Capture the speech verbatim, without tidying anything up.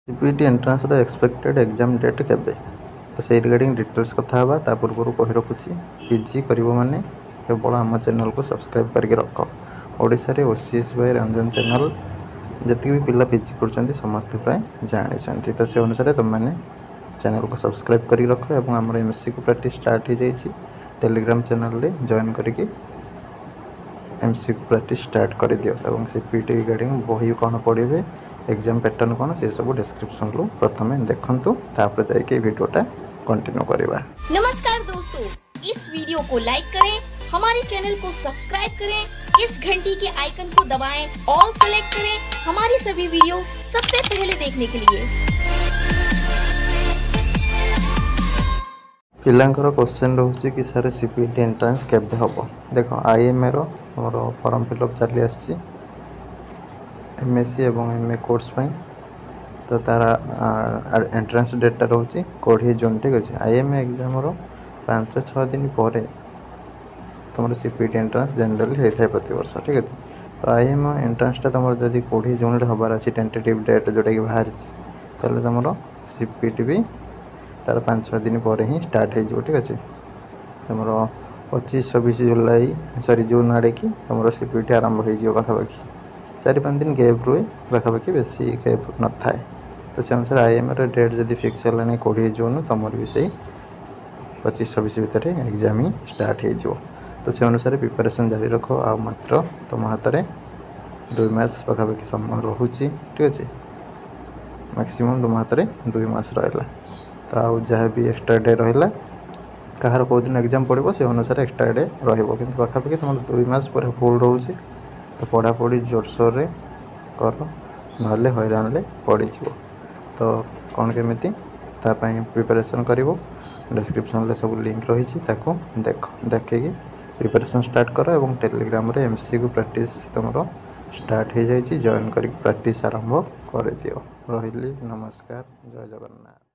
CPET ଏଣ୍ଟ୍ରାନ୍ସର ଏକ୍ସପେକ୍ଟେଡ଼ exam date କେବେ ତ ସେଇ ରିଗାର୍ଡ଼ିଂ ଡିଟେଲ୍ସ କଥା ହେବା ତା ପୂର୍ବରୁ କହି ରଖୁଛି ପିଜି କରିବ ମାନେ କେବଳ ଆମ ଚ୍ୟାନେଲକୁ ସବସ୍କ୍ରାଇବ୍ କରିକି ରଖ ଓଡ଼ିଶାରେ O C S by Ranjan channel ଯେତିକି ବି ପିଲା ପିଜି କରୁଛନ୍ତି ସମସ୍ତେ ପ୍ରାୟ ଜାଣିଛନ୍ତି ତ ସେ ଅନୁସାରେ ତୁମେମାନେ ଚ୍ୟାନେଲକୁ ସବସ୍କ୍ରାଇବ୍ କରିକି ରଖ ଏବଂ ଆମର M C Q practice start ହେଇଯାଇଛି ଟେଲିଗ୍ରାମ ଚ୍ୟାନେଲରେ ଜଏନ୍ କରିକି M C Q practice start କରିଦିଅ ଏବଂ ସି ପି ଟି ରିଗାର୍ଡ଼ିଂ ବହି କ'ଣ ପଢ଼ିବେ ଏକ୍ଜାମ୍ ପ୍ୟାଟର୍ନ କ'ଣ ସେସବୁ ଡେସ୍କ୍ରିପସନ୍ରୁ ପ୍ରଥମେ ଦେଖନ୍ତୁ ତାପରେ ଯାଇକି ଏଇ ଭିଡ଼ିଓଟା କଣ୍ଟିନ୍ୟୁ କରିବା नमस्कार दोस्तों इस वीडियो को लाइक करें हमारे चैनल को सब्सक्राइब करें इस घंटी के आइकन को दबाएं, ऑल सेलेक्ट करें हमारी सभी वीडियो सबसे पहले देखने के लिए ପିଲାଙ୍କର କ୍ୱେଶ୍ଚନ୍ ରହୁଛି କି sir C P T entrance କେବେ ହେବ ଦେଖ ଆଇଏମ୍ଏର ତୁମର ଫର୍ମ ଫିଲ୍ଅପ୍ ଚାଲି ଆସିଛି ଏମ୍ ଏସ୍ ସି ଏବଂ ଏମ୍ ଏ କୋର୍ସ ପାଇଁ ତ ତା'ର ଏଣ୍ଟ୍ରାନ୍ସ ଡେଟ୍ଟା ରହୁଛି କୋଡ଼ିଏ ଜୁନ୍ ଠିକ୍ ଅଛି I M A ଏକ୍ଜାମ୍ର ପାଞ୍ଚ ଛଅ ଦିନ ପରେ ତୁମର C P T entrance generally ହେଇଥାଏ ପ୍ରତିବର୍ଷ ଠିକ୍ ଅଛି ତ I M A ଏଣ୍ଟ୍ରାନ୍ସଟା ତୁମର ଯଦି କୋଡ଼ିଏ ଜୁନ୍ରେ ହେବାର ଅଛି ଟେଣ୍ଟେଟିଭ୍ ଡେଟ୍ ଯେଉଁଟାକି ବାହାରିଛି ତାହେଲେ ତୁମର ସି ପି ଟି ବି ତା'ର ପାଞ୍ଚ ଛଅ ଦିନ ପରେ ହିଁ ଷ୍ଟାର୍ଟ ହେଇଯିବ ଠିକ୍ ଅଛି ତୁମର ପଚିଶ ଛବିଶ ଜୁଲାଇ ସରି ଜୁନ୍ ଆଡ଼େକି ତୁମର ସି ପି ଟି ଆରମ୍ଭ ହେଇଯିବ ପାଖାପାଖି ଚାରି ପାଞ୍ଚ ଦିନ ଗ୍ୟାପ୍ ରୁହେ ପାଖାପାଖି ବେଶୀ ଗ୍ୟାପ୍ ନଥାଏ ତ ସେ ଅନୁସାରେ I ଏମ୍ର ଡେଟ୍ ଯଦି ଫିକ୍ସ ହେଲାଣି କୋଡ଼ିଏ ଜୁନ୍ ତୁମର ବି ସେଇ ପଚିଶ ଛବିଶ ଭିତରେ ଏକ୍ଜାମ୍ ହିଁ ଷ୍ଟାର୍ଟ ହେଇଯିବ ତ ସେ ଅନୁସାରେ ପ୍ରିପାରେସନ୍ ଜାରି ରଖ ଆଉ ମାତ୍ର ତୁମ ହାତରେ ଦୁଇ ମାସ ପାଖାପାଖି ସମୟ ରହୁଛି ଠିକ୍ ଅଛି ମ୍ୟାକ୍ସିମମ୍ ତୁମ ହାତରେ ଦୁଇ ମାସ ରହିଲା ତ ଆଉ ଯାହା ବି ଏକ୍ସଟ୍ରା ଡେ ରହିଲା କାହାର କେଉଁ ଦିନ ଏକ୍ଜାମ୍ ପଡ଼ିବ ସେ ଅନୁସାରେ ଏକ୍ସଟ୍ରା ଡେ ରହିବ କିନ୍ତୁ ପାଖାପାଖି ତୁମର ଦୁଇ ମାସ ପୁରା ଫୁଲ୍ ରହୁଛି ତ ପଢ଼ାପଢ଼ି ଜୋରସୋରରେ କର ନହେଲେ ହଇରାଣରେ ପଡ଼ିଯିବ ତ କ'ଣ କେମିତି ତା ପାଇଁ ପ୍ରିପାରେସନ୍ କରିବ ଡେସ୍କ୍ରିପସନ୍ରେ ସବୁ ଲିଙ୍କ୍ ରହିଛି ତାକୁ ଦେଖ ଦେଖିକି ପ୍ରିପାରେସନ୍ ଷ୍ଟାର୍ଟ କର ଏବଂ ଟେଲିଗ୍ରାମରେ ଏମ୍ ସି କ୍ୟୁ ପ୍ରାକ୍ଟିସ୍ ତୁମର ଷ୍ଟାର୍ଟ ହେଇଯାଇଛି ଜଏନ୍ କରିକି ପ୍ରାକ୍ଟିସ୍ ଆରମ୍ଭ କରିଦିଅ ରହିଲି ନମସ୍କାର ଜୟ ଜଗନ୍ନାଥ